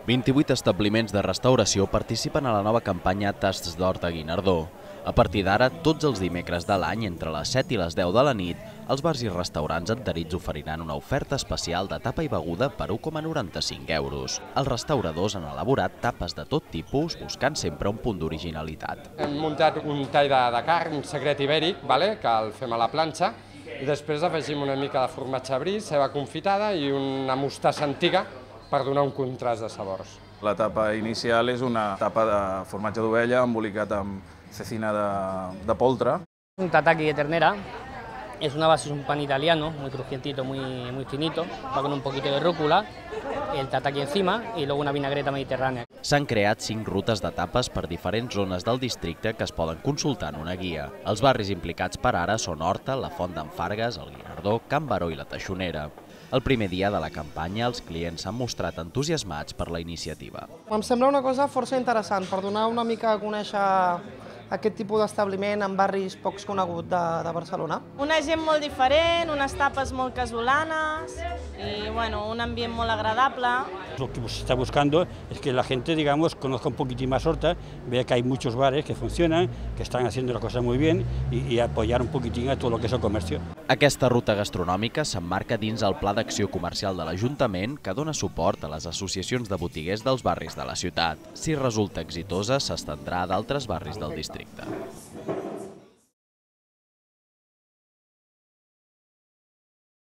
28 establiments de restauració participen a la nova campanya Tasts d'Horta Guinardó. A partir d'ara, tots els dimecres de l'any, entre les 7 i les 10 de la nit, els bars i restaurants adherits oferiran una oferta especial de tapa i beguda per 1,95 €. Els restauradors han elaborat tapes de tot tipus, buscant sempre un punt d'originalitat. Hem muntat un tall de carn, un secret ibèric, que el fem a la planxa, i després afegim una mica de formatge brie, ceba confitada i una mostassa antiga per donar un contrast de sabors. La tapa inicial és una tapa de formatge d'ovella embolicat amb cecina de poltre. Un tataki de ternera, es una base, es un pan italiano, muy crujientito, muy finito, va con un poquito de rúcula, el tataki encima y luego una vinagreta mediterránea. S'han creat 5 rutes de tapes per diferents zones del districte que es poden consultar en una guia. Els barris implicats per ara són Horta, la Font d'en Fargues, el Guinardó, Can Baró i la Teixonera. El primer dia de la campanya, els clients s'han mostrat entusiasmats per la iniciativa. Em sembla una cosa força interessant per donar una mica a conèixer aquest tipus d'establiment en barris pocs coneguts de Barcelona. Una gent molt diferent, unes tapes molt casolanes y un ambient molt agradable. Lo que se está buscando es que la gente, conozca un poquitín más Horta, vea que hay muchos bares que funcionan, que están haciendo las cosas muy bien y apoyar un poquitín a todo lo que es el comercio. Aquesta ruta gastronòmica s'emmarca dins el Pla d'Acció Comercial de l'Ajuntament que dona suport a les associacions de botiguers dels barris de la ciutat. Si resulta exitosa, s'estendrà a d'altres barris del districte.